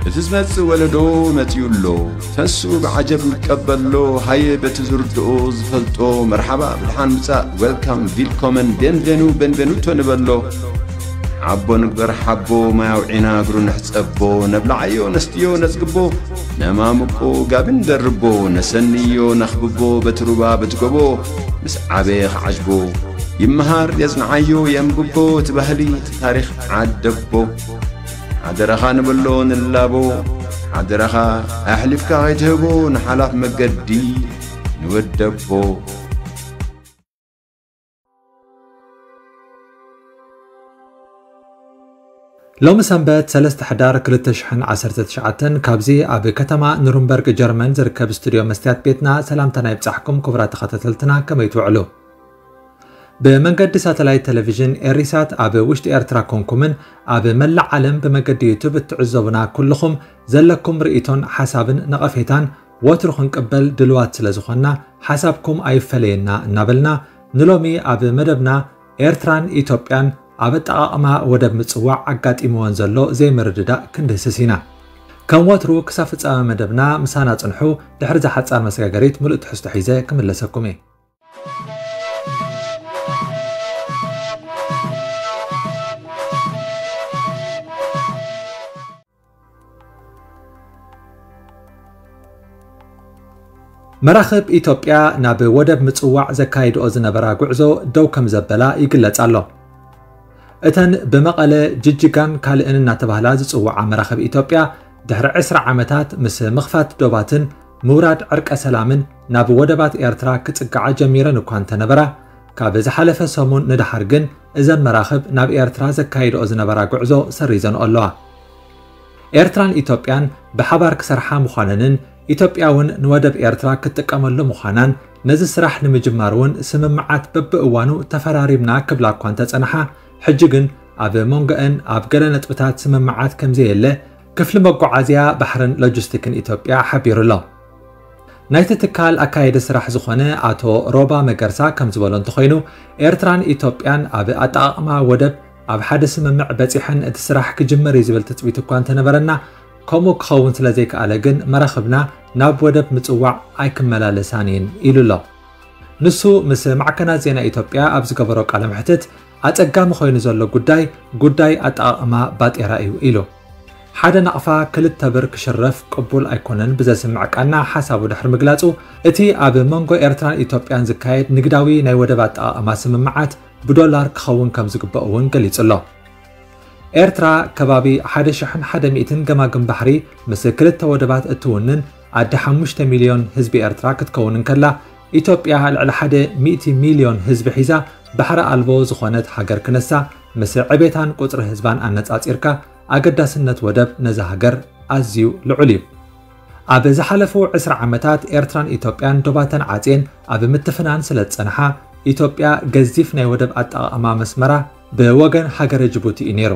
እቲ ዝመጽእ ወለዶ መጺኡ ኣሎ። ተሱ ብዓጀብ ይቀበሎ። ሃየ በቲ ዝርድኦ ዝፈልጦ መርሓባ ብድሓን ምጻእ፣ ዌልካም፣ ቪልኮመን፣ ቤንቬኑ፣ ቤንቬኑቶ ንበሎ። ሓቦ ንግበር ሓቦ፣ ማይ ኣውዒና እግሩ ንሕጸቦ። ነብልዓዮ ነስትዮ ነጽግቦ፣ ነማምቆ ጋቢ ንደርቦ። ነሰንዮ ነኽብቦ በቲ ሩባ በቲ ጎቦ፣ ምስ ዓበየ ክዓጅቦ። ይመሃር የጽንዓዮ የንብቦ፣ እቲ ባህሊ እቲ ታሪኽ ዓደቦ። ሓደራኻ ንብሎ ንላቦ፣ ሓደራኻ ኣሕሊፍካ ከይትህቦ ንሓላፍ መገዲ ንወደቦ። ሎሚ ሰንበት ሰለስተ ሕዳር ክልተ ሽሕን ዓሰርተ ትሽዓተን ካብዚ ኣብ ከተማ ኑርንበርግ ጀርመን ዝርከብ ስቱድዮ መስትያት ቤትና ሰላምታና ይብጻሕኩም ክቡራት ተኸታተልትና፣ ከመይ ትውዕሉ? ብመንገዲ ሳተላይት ቴሌቪዥን ኤሪሳት ኣብ ውሽጢ ኤርትራ ኮንኩምን ኣብ መላእ ዓለም ብመገዲ ዩቱብ እትዕዘቡና ኩልኹም ዘለኩም ርእይቶን ሓሳብን ነቐፌታን ወትሩ ክንቅበል ድልዋት ስለ ዝኾንና ሓሳብኩም ኣይፈለየና እናበልና ንሎሚ ኣብ መደብና ኤርትራን ኢትዮጵያን ኣብ ኣጠቓቕማ ወደብ ምጽዋዕ ኣጋጢምወን ዘሎ ዘይምርድዳእ ክንድህስስ ኢና። ከም ወትሩ ክሳብ ፍጻመ መደብና ምሳና ጽንሑ፣ ድሕሪ እዛ ሓጻር መሰጋገሪት ምሉእ ትሕዝቶ ሒዘ ክምለሰኩም እየ። መራኽብ ኢትዮጵያ ናብ ወደብ ምጽዋዕ ዘካይድኦ ዝነበራ ጉዕዞ ደው ከም ዘበላ ይግለጽ ኣሎ። እተን ብመቐለ፣ ጅጅጋን ካልእን እናተባህላ ዝጽውዓ መራኽብ ኢትዮጵያ ድሕሪ ዕስራ ዓመታት ምስ ምኽፋት ዶባትን ምውራድ ዕርቀ ሰላምን ናብ ወደባት ኤርትራ ክጽግዓ ጀሚረን እኳ እንተነበራ፣ ካብ ዝሓለፈ ሰሙን ንደሓር ግን እዘን መራኽብ ናብ ኤርትራ ዘካይድኦ ዝነበራ ጉዕዞ ሰሪዘንኦ ኣለዋ። ኤርትራን ኢትዮጵያን ብሓባር ክሰርሓ ምዃነንን ኢትዮጵያ እውን ንወደብ ኤርትራ ክትጥቀመሉ ምዃናን ነዚ ስራሕ ንምጅማር እውን ስምምዓት በብእዋኑ ተፈራሪምና ክብላ እኳ እንተጸንሓ፣ ሕጂ ግን ኣብ መንጎአን ኣብ ገለ ነጥብታት ስምምዓት ከምዘየለ ክፍሊ መጓዓዝያ ባሕርን ሎጂስቲክን ኢትዮጵያ ሓቢሩ ኣሎ። ናይቲ ትካል ኣካየዲ ስራሕ ዝኾነ ኣቶ ሮባ መገርሳ ከም ዝበሎ እንተኾይኑ፣ ኤርትራን ኢትዮጵያን ኣብ ኣጠቓቕማ ወደብ ኣብ ሓደ ስምምዕ በጺሐን እቲ ስራሕ ክጅመር እዩ ዝብል ትጽቢት እኳ እንተነበረና፣ ከምኡ ክኸውን ስለ ዘይከኣለ ግን መራኽብና ናብ ወደብ ምጽዋዕ ኣይክመላለሳን እየን ኢሉ ኣሎ። ንሱ ምስ ማዕከናት ዜና ኢትዮጵያ ኣብ ዝገበሮ ቃለ መሕትት ኣጸጋሚ ኮይኑ ዘሎ ጉዳይ፣ ጉዳይ ኣጠቓቕማ ባጤራ እዩ ኢሉ። ሓደ ናቕፋ ክልተ ብር ክሽረፍ ቅቡል ኣይኮነን ብዘስምዕ ቃና ሓሳቡ ድሕሪ ምግላጹ፣ እቲ ኣብ መንጎ ኤርትራን ኢትዮጵያን ዝካየድ ንግዳዊ ናይ ወደብ ኣጠቓቕማ ስምምዓት ብዶላር ክኸውን ከም ዝግበኦ እውን ገሊጹ ኣሎ። ኤርትራ ከባቢ ሓደ ሽሕን ሓደ ሚእትን ገማግም ባሕሪ ምስ ክልተ ወደባት እትውንን ኣደ ሓሙሽተ ሚልዮን ህዝቢ ኤርትራ ክትከውን እንከላ፣ ኢትዮጵያ ልዕሊ ሓደ ሚእቲ ሚልዮን ህዝቢ ሒዛ ባሕሪ ኣልቦ ዝኾነት ሃገር ክነሳ፣ ምስ ዕቤታን ቁጽሪ ህዝባን ኣነጻጺርካ ኣገዳስነት ወደብ ነዛ ሃገር ኣዝዩ ልዑል እዩ። ኣብ ዝሓለፉ ዕስራ ዓመታት ኤርትራን ኢትዮጵያን ዶባተን ዓጽየን ኣብ ምትፍናን ስለ ዝጸንሓ፣ ኢትዮጵያ ገዚፍ ናይ ወደብ ኣጠቓቕማ መስመራ ብወገን ሃገረ ጅቡቲ እዩ ነይሩ።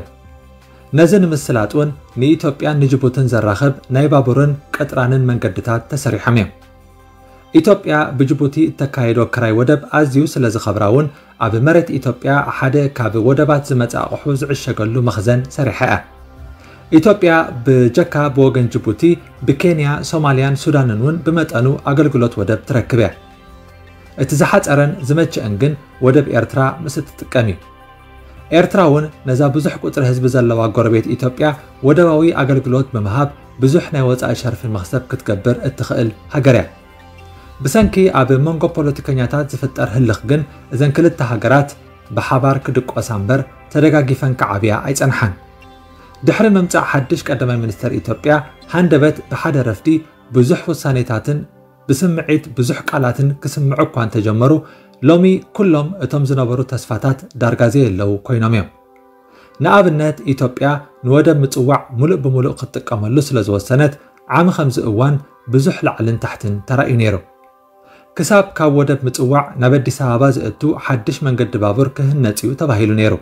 ነዚ ንምስላጥ እውን ንኢትዮጵያን ንጅቡትን ዘራኽብ ናይ ባቡርን ቅጥራንን መንገድታት ተሰሪሖም እዮም። ኢትዮጵያ ብጅቡቲ እተካየዶ ክራይ ወደብ ኣዝዩ ስለ ዝኸብራ እውን ኣብ መሬት ኢትዮጵያ ሓደ ካብ ወደባት ዝመጽእ ኣቑሑ ዝዕሸገሉ መኽዘን ሰሪሓ እያ። ኢትዮጵያ ብጀካ ብወገን ጅቡቲ ብኬንያ፣ ሶማልያን ሱዳንን እውን ብመጠኑ ኣገልግሎት ወደብ ትረክብ እያ። እቲ ዝሓጸረን ዝመቸአን ግን ወደብ ኤርትራ ምስ እትጥቀም እዩ። ኤርትራ እውን ነዛ ብዙሕ ቁጽሪ ህዝቢ ዘለዋ ጎረቤት ኢትዮጵያ ወደባዊ ኣገልግሎት ብምሃብ ብዙሕ ናይ ወጻኢ ሸርፊ መኽሰብ ክትገብር እትኽእል ሃገር እያ። ብሰንኪ ኣብ መንጎ ፖለቲከኛታት ዝፍጠር ህልኽ ግን እዘን ክልተ ሃገራት ብሓባር ክድቆሳ እምበር ተደጋጊፈን ክዓብያ ኣይጸንሓን። ድሕሪ ምምጻእ ሓድሽ ቀዳማይ ሚኒስተር ኢትዮጵያ ሃንደበት ብሓደ ረፍዲ ብዙሕ ውሳኔታትን ብስምዒት ብዙሕ ቃላትን ክስምዑ እኳ እንተጀመሩ፣ ሎሚ ኩሎም እቶም ዝነበሩ ተስፋታት ዳርጋ ዘየለዉ ኮይኖም እዮም። ንኣብነት፣ ኢትዮጵያ ንወደብ ምጽዋዕ ሙሉእ ብሙሉእ ክትጥቀመሉ ስለ ዝወሰነት፣ ዓሚ ከምዚ እዋን ብዙሕ ላዕልን ታሕትን ተራእዩ ነይሩ። ክሳብ ካብ ወደብ ምጽዋዕ ናብ ኣዲስ ኣበባ ዘእቱ ሓድሽ መንገዲ ባቡር ክህነጽ እዩ ተባሂሉ ነይሩ።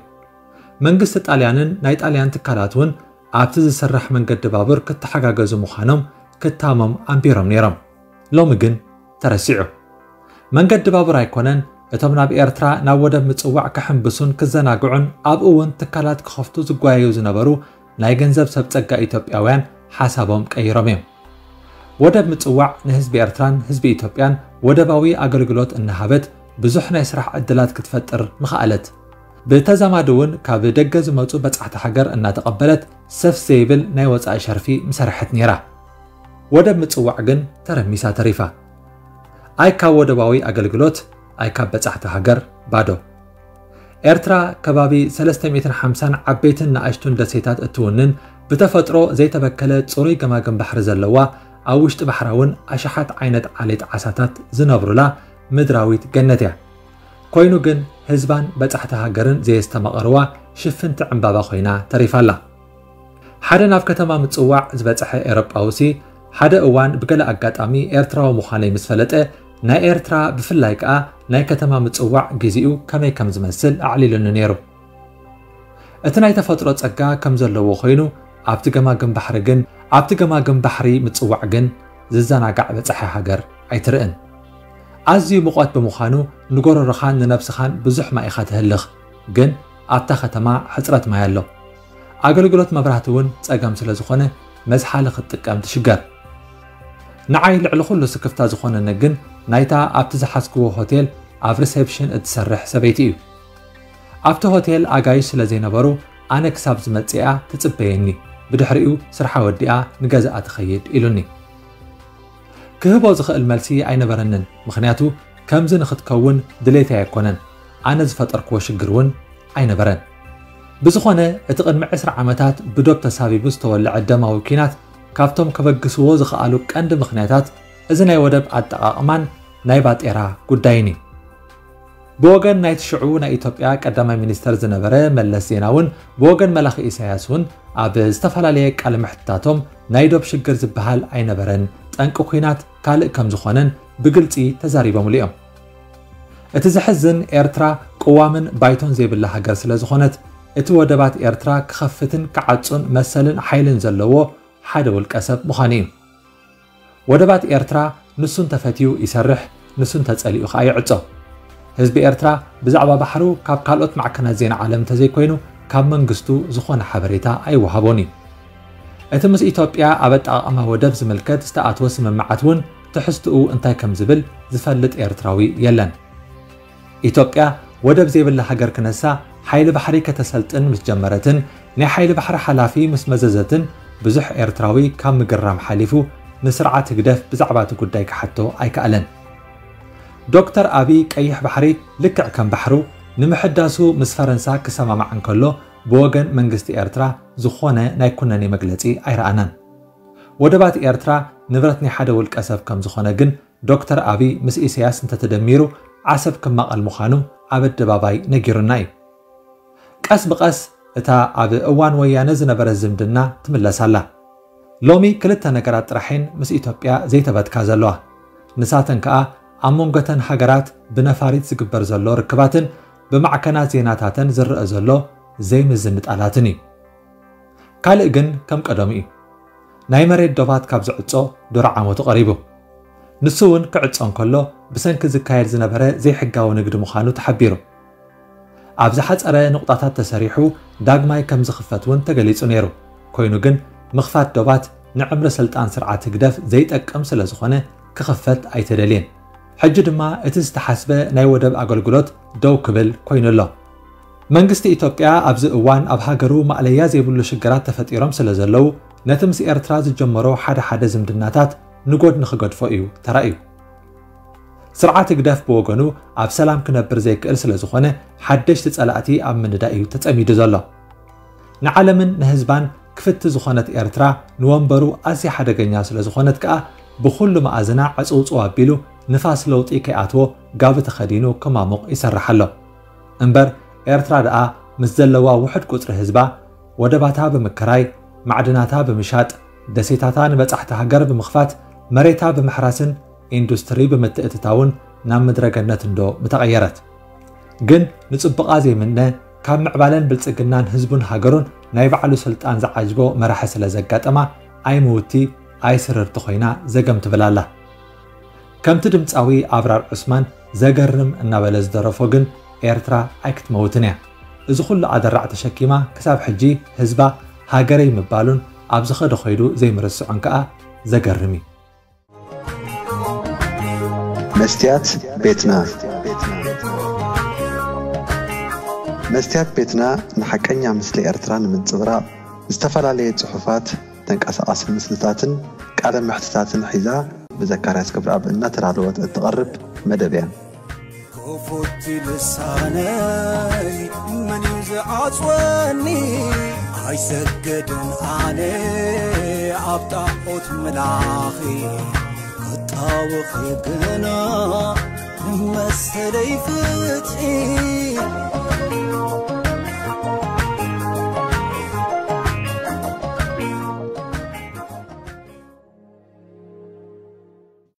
መንግስቲ ጣልያንን ናይ ጣልያን ትካላት እውን ኣብቲ ዝስራሕ መንገዲ ባቡር ክተሓጋገዙ ምዃኖም ክታሞም ኣንቢሮም ነይሮም። ሎሚ ግን ተረሲዑ። መንገዲ ባቡር ኣይኮነን፣ እቶም ናብ ኤርትራ ናብ ወደብ ምጽዋዕ ክሕንብሱን ክዘናግዑን ኣብኡ እውን ትካላት ክኸፍቱ ዝጓየዩ ዝነበሩ ናይ ገንዘብ ሰብ ጸጋ ኢትዮጵያውያን ሓሳቦም ቀይሮም እዮም። ወደብ ምጽዋዕ ንህዝቢ ኤርትራን ህዝቢ ኢትዮጵያን ወደባዊ ኣገልግሎት እናሃበት ብዙሕ ናይ ስራሕ ዕድላት ክትፈጥር ምኽኣለት። ብተዛማዲ እውን ካብ ደገ ዝመጹ በጻሕቲ ሃገር እናተቐበለት ሰፍ ዘይብል ናይ ወጻኢ ሸርፊ ምሰርሐት ነይራ። ወደብ ምጽዋዕ ግን ተረሚሳ ተሪፋ። ኣይ ካብ ወደባዊ ኣገልግሎት፣ ኣይ ካብ በጻሕቲ ሃገር፣ ባዶ። ኤርትራ ከባቢ ሰለስተ ሚእትን ሓምሳን ዓበይትን ንኣሽቱን ደሴታት እትውንን፣ ብተፈጥሮ ዘይተበከለ ጽሩይ ገማግም ባሕሪ ዘለዋ፣ ኣብ ውሽጢ ባሕራ እውን ኣሽሓት ዓይነት ዓሌት ዓሳታት ዝነብሩላ ምድራዊት ገነት እያ። ኮይኑ ግን ህዝባን በጻሕቲ ሃገርን ዘየስተማቐርዋ ሽፍንቲ ዕምባባ ኮይና ተሪፋ ኣላ። ሓደ ናብ ከተማ ምጽዋዕ ዝበጽሐ ኤውሮጳዊ ሲ ሓደ እዋን ብገለ ኣጋጣሚ ኤርትራዊ ምዃነይ ምስ ፈለጠ፣ ናይ ኤርትራ ብፍላይ ከኣ ናይ ከተማ ምጽዋዕ ግዜኡ ከመይ ከም ዝመስል ኣዕሊሉኒ ነይሩ። እቲ ናይ ተፈጥሮ ጸጋ ከም ዘለዎ ኮይኑ ኣብቲ ገማግም ባሕሪ ግን ኣብቲ ገማግም ባሕሪ ምጽዋዕ ግን ዝዘናጋዕ በጻሒ ሃገር ኣይትርእን። ኣዝዩ ሙቐት ብምዃኑ ንጎረሮኻን ንነብስኻን ብዙሕ ማይ ኢኻ ተህልኽ፣ ግን ኣብታ ከተማ ሕጽረት ማይ ኣሎ። ኣገልግሎት መብራህቲ እውን ጸገም ስለ ዝኾነ መዝሓሊ ክትጥቀም ትሽገር። ንዓይ ልዕሊ ኩሉ ስክፍታ ዝኾነኒ ግን ናይታ ኣብቲ ዝሓዝክዎ ሆቴል ኣብ ሪሴፕሽን እትሰርሕ ሰበይቲ እዩ። ኣብቲ ሆቴል ኣጋይሽ ስለ ዘይነበሩ ኣነ ክሳብ ዝመጽእ እያ ትጽበየኒ፣ ብድሕሪኡ ስርሓ ወዲኣ ንገዛኣ ትኸይድ ኢሉኒ። ክህቦ ዝኽእል መልሲ ኣይነበረንን፣ ምኽንያቱ ከምዚ ንኽትከውን ድሌተይ ኣይኮነን፣ ኣነ ዝፈጠርክዎ ሽግር እውን ኣይነበረን። ብዝኾነ እቲ ቅድሚ ዕስራ ዓመታት ብዶብ ተሳቢቡ ዝተወልዐ ደማዊ ኲናት ካብቶም ከበግስዎ ዝኸኣሉ ቀንዲ ምኽንያታት እዚ ናይ ወደብ ኣጠቓቕማን ናይ ባጤራ ጉዳይን እዩ። ብወገን ናይቲ ሽዑ ናይ ኢትዮጵያ ቀዳማይ ሚኒስተር ዝነበረ መለስ ዜናውን ብወገን መላኺ ኢሳያስ እውን ኣብ ዝተፈላለየ ቃለ መሕትታቶም ናይ ዶብ ሽግር ዝበሃል ኣይነበረን፣ ጠንቂ ኲናት ካልእ ከም ዝኾነን ብግልጺ ተዛሪቦምሉ እዮም። እቲ ዘሕዝን ኤርትራ ቅዋምን ባይቶን ዘይብላ ሃገር ስለ ዝኾነት እቲ ወደባት ኤርትራ ክኸፍትን ክዓጹን መሰልን ሓይልን ዘለዎ ሓደ ውልቀ ሰብ ምዃኑ እዩ። ወደባት ኤርትራ ንሱ እንተፈትዩ ይሰርሕ፣ ንሱ እንተጸሊኡ ከኣ ይዕጾ። ህዝቢ ኤርትራ ብዛዕባ ባሕሩ ካብ ካልኦት ማዕከናት ዜና ዓለም እንተዘይኮይኑ ካብ መንግስቱ ዝኾነ ሓበሬታ ኣይወሃቦን እዩ። እቲ ምስ ኢትዮጵያ ኣብ ኣጠቓቕማ ወደብ ዝምልከት ዝተኣትወ ስምምዓት እውን ትሕዝትኡ እንታይ ከም ዝብል ዝፈልጥ ኤርትራዊ የለን። ኢትዮጵያ ወደብ ዘይብላ ሃገር ክነሳ ሓይሊ ባሕሪ ከተሰልጥን ምስ ጀመረትን ናይ ሓይሊ ባሕሪ ሓላፊ ምስ መዘዘትን ብዙሕ ኤርትራዊ ካብ ምግራም ሓሊፉ ንስርዓት ህግደፍ ብዛዕባ እቲ ጉዳይ ክሓቶ ኣይከኣለን። ዶክተር ኣቢ ቀይሕ ባሕሪ ልክዕ ከም ባሕሩ ንምሕዳሱ ምስ ፈረንሳ ክሰማማዕ እንከሎ ብወገን መንግስቲ ኤርትራ ዝኾነ ናይ ኩነኔ መግለጺ ኣይረኣናን። ወደባት ኤርትራ ንብረት ናይ ሓደ ውልቀ ሰብ ከም ዝኾነ ግን ዶክተር ኣቢ ምስ ኢሳያስ እንተተደሚሩ ዓሰብ ክማቐል ምዃኑ ኣብ ኣደባባይ ነጊሩና እዩ። ቀስ ብቐስ እታ ኣብ እዋን ወያነ ዝነበረት ዝምድና ትምለስ ኣላ። ሎሚ ክልተ ነገራት ጥራሕ እየን ምስ ኢትዮጵያ ዘይተበትካ ዘለዋ። ንሳተን ከኣ ኣብ መንጎተን ሃገራት ብነፋሪት ዝግበር ዘሎ ርክባትን ብማዕከናት ዜናታተን ዝረአ ዘሎ ዘይምዝንጣላትን እዩ። ካልእ ግን ከም ቀደሙ እዩ። ናይ መሬት ዶባት ካብ ዝዕጾ ዱር ዓመቱ ቀሪቡ። ንሱ እውን ክዕጾ እንከሎ ብሰንኪ ዝካየድ ዝነበረ ዘይሕጋዊ ንግዲ ምዃኑ ተሓቢሩ። ኣብ ዝሓጸረ ንቑጣታት ተሰሪሑ ዳግማይ ከም ዝኽፈት እውን ተገሊጹ ነይሩ። ኮይኑ ግን ምኽፋት ዶባት ንዕምሪ ስልጣን ስርዓት ህግደፍ ዘይጠቅም ስለ ዝኾነ ክኽፈት ኣይተደልየን። ሕጂ ድማ እቲ ዝተሓስበ ናይ ወደብ ኣገልግሎት ደው ክብል ኮይኑ ኣሎ። መንግስቲ ኢትዮጵያ ኣብዚ እዋን ኣብ ሃገሩ ማእለያ ዘይብሉ ሽግራት ተፈጢሮም ስለ ዘለዉ ነቲ ምስ ኤርትራ ዝጀመሮ ሓደ ሓደ ዝምድናታት ንጎድኒ ክገድፎ እዩ ተራእዩ። ስርዓት ህግደፍ ብወገኑ ኣብ ሰላም ክነብር ዘይክእል ስለ ዝኾነ ሓደሽቲ ጸላእቲ ኣብ ምንዳእ እዩ ተጸሚዱ ዘሎ። ንዓለምን ንህዝባን ክፍቲ ዝኾነት ኤርትራ ንወንበሩ ኣዝያ ሓደገኛ ስለ ዝኾነት ከኣ ብኹሉ መኣዝና ዕጽውጽው ኣቢሉ ንፋስ ለውጢ ከይኣትዎ ጋቢ ተኸዲኑ ክማሙቕ ይሰርሕ ኣሎ። እምበር ኤርትራ ደኣ ምስ ዘለዋ ውሑድ ቁጽሪ ህዝባ ወደባታ ብምክራይ፣ ማዕድናታ ብምሻጥ፣ ደሴታታ ንበጻሕቲ ሃገር ብምኽፋት፣ መሬታ ብምሕራስን ኢንዱስትሪ ብምትእትታውን ናብ ምድረ ገነት እንዶ ምተቐየረት። ግን ንጽቡቓ ዘይምነ ካብ ምዕባለን ብልጽግናን ህዝቡን ሃገሩን ናይ ባዕሉ ስልጣን ዝዓጅቦ መራሒ ስለ ዘጋጠማ ኣይምውቲ ኣይስርርቲ ኮይና ዘገም ትብል ኣላ። ከምቲ ድምጻዊ ኣብራር ዑስማን ዘገርም እናበለ ዝደረፎ ግን ኤርትራ ኣይክትመውትን እያ። እዚ ኩሉ ኣደራዕ ተሸኪማ ክሳብ ሕጂ ህዝባ ሃገረይ ምባሉን ኣብ ዝኸዶ ኸይዱ ዘይምርስዖን ከኣ ዘገርም እዩ። መስትያት ቤትና። መስትያት ቤትና ንሓቀኛ ምስሊ ኤርትራ ንምንጽብራቕ ዝተፈላለየ ጽሑፋት፣ ተንቀሳቓሲ ምስልታትን ቃለ መሕትታትን ሒዛ ብዘካርያስ ገብረኣብ እናተዳለወት እትቐርብ መደብ እያ። ክፉት ልሳነይ መን እዩ ዝዓጽወኒ? ኣይሰግድን ኣነ ኣብ ጣዖት ምላኺ፣ ክጣወኺ ግና መሰለይ ፍትሒ።